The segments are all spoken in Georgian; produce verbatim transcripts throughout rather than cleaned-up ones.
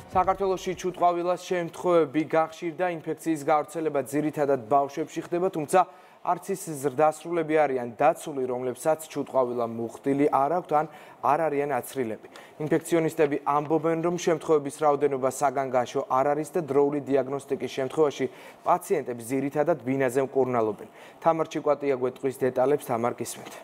საქართველოში ჩუტყვავილას შემთხვევები გახშირდა, ინფექციის გავრცელება ძირითადად ბავშვებში ხდება, თუმცა არც ის ზრდასრულები არიან დაცული, რომლებსაც ჩუტყვავილა მუხტილი არ აქვთ ან არ არიან აცრილები. ინფექციონისტები ამბობენ, რომ შემთხვევების რაოდენობა საგანგაშო არ არის და დროული დიაგნოსტიკის შემთხვევაში პაციენტებს ძირითადად ბინაზე მკურნალობენ. თამარ ჩიკვატია გვეტყვის დეტალებს, თამარ გისმენთ.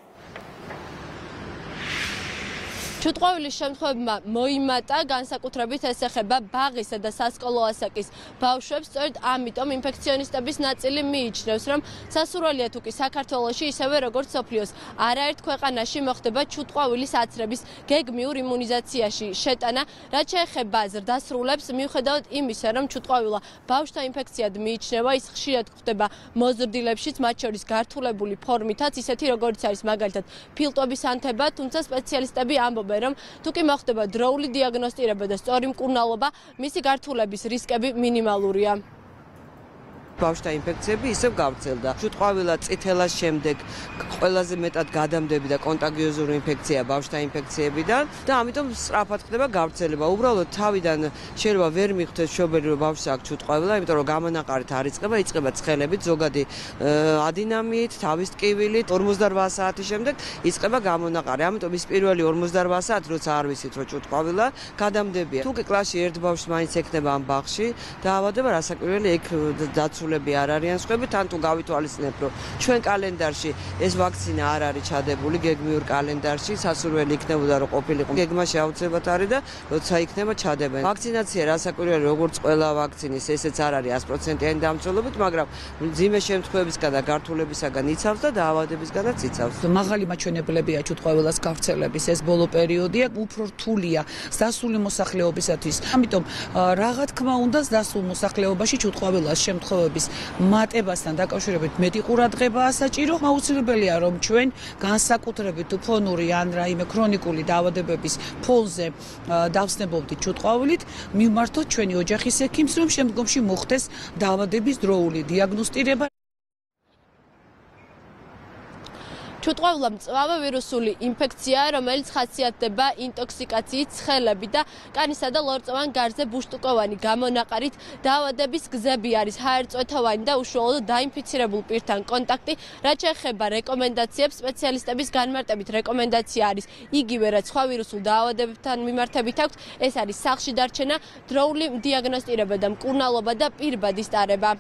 ჩუტყვავილის შემთხვევებმა მოიმატა, განსაკუთრებით ეს ეხება ბაღისა და სასკოლო ასაკის ბავშვებს, სწორედ ამიტომ ინფექციონისტების ნაწილი მიიჩნევს, რომ სასურველია თუ კი საქართველოში, ისევე როგორც მსოფლიოს არაერთ ქვეყანაში მოხდება ჩუტყვავილის აცრების გეგმიურ იმუნიზაციაში შეტანა, რაც შეეხება ზრდასრულებს, მიუხედავად იმისა, რომ ჩუტყვავილა ბავშვთა ინფექციად მიიჩნევა, ის ხშირად გვხვდება მოზრდილებშიც, მათ შორის გართულებული ფორმითაც, ისეთი როგორც არის მაგალითად ფილტვების ანთება, თუმცა სპეციალისტები ამბობენ, რომ თუ კი მოხდება დროული დიაგნოსტირება და სწორი მკურნალობა, მისი გართულების რისკები მინიმალურია. ბავშვთა ინფექციები ისევ გავრცელდა. ჩუტყვავილა წითელას შემდეგ ყველაზე მეტად გადამდები და კონტაგიოზური ინფექცია ბავშვთა ინფექციებიდან და ამიტომ სწრაფად ხდება გავრცელება. უბრალოდ თავიდან შეიძლება ვერ მიხვდეს მშობელი, რომ ბავშვს აქვს ჩუტყვავილა, იმიტომ რომ გამონაყარით არ იწყება, იწყება ცხელებით, ზოგადი ადინამიით, თავის ტკივილით, ორმოცდარბዓ საათის შემდეგ იწყება გამონაყარი. ამიტომ ის პირველი ორმოცდარბዓ საათი, როცა არ ვიცით, რომ ჩუტყვავილა გადამდებია. თუ კი კლასში ერთ ბავშვს მაინც ექნება ამ ბაღში დაავადება, რასაკვირველი ეგ დაცული არ არიან სხვები, თან თუ გავითვალისწინებთ, რომ ჩვენ კალენდარში ეს ვაქცინა არ არის ჩადებული გეგმიურ კალენდარში, სასურველი იქნებოდა რომ ყოფილიყო. გეგმაში აუცილებლად არის და როცა იქნება ჩადებენ. ვაქცინაცია რასაკვირველი როგორც ყველა ვაქცინის, ესეც არ არის sto პროცენტიანი დამცველობით, მაგრამ მძიმე შემთხვევებისგან და გართულებისგან იცავს და დაავადებისგანაც იცავს. მაღალი მაჩვენებლებია ჩუტყვავილას გავრცელების, ეს ბოლო პერიოდია, უფრო რთულია დასული მოსახლეობისათვის. ამიტომ რა თქმა უნდა, დასულ მოსახლეობაში ჩუტყვავილას შემთხვევები მატებასთან დაკავშირებით მეტი ყურადღებაა საჭირო. აუცილებელია რომ ჩვენ განსაკუთრებით ფონური ან რაიმე ქრონიკული დაავადებების ფონზე დავსნებობდით ჩუტყვავილით, მივმართოთ ჩვენი ოჯახის ექიმს, რომ შემდგომში მოხდეს დაავადების დროული დიაგნოსტირება. ჩუტყვავილა მწვავე ვირუსული ინფექციაა, რომელიც ხასიათდება ინტოქსიკაციით, ცხელებით და კანისა და ლორწოვან გარზე ბუშტუკოვანი გამონაყარით. დაავადების გზები არის ჰაერწვეთოვანი და უშუალოდ დაინფიცირებულ პირთან კონტაქტი. რაც შეეხება რეკომენდაციებს, სპეციალისტების განმარტებით რეკომენდაცია არის იგივე, რაც სხვა ვირუსულ დაავადებებთან მიმართებით აქვთ, ეს არის სახლში დარჩენა, დროული დიაგნოსტირება და მკურნალობა და პირბადის ტარება.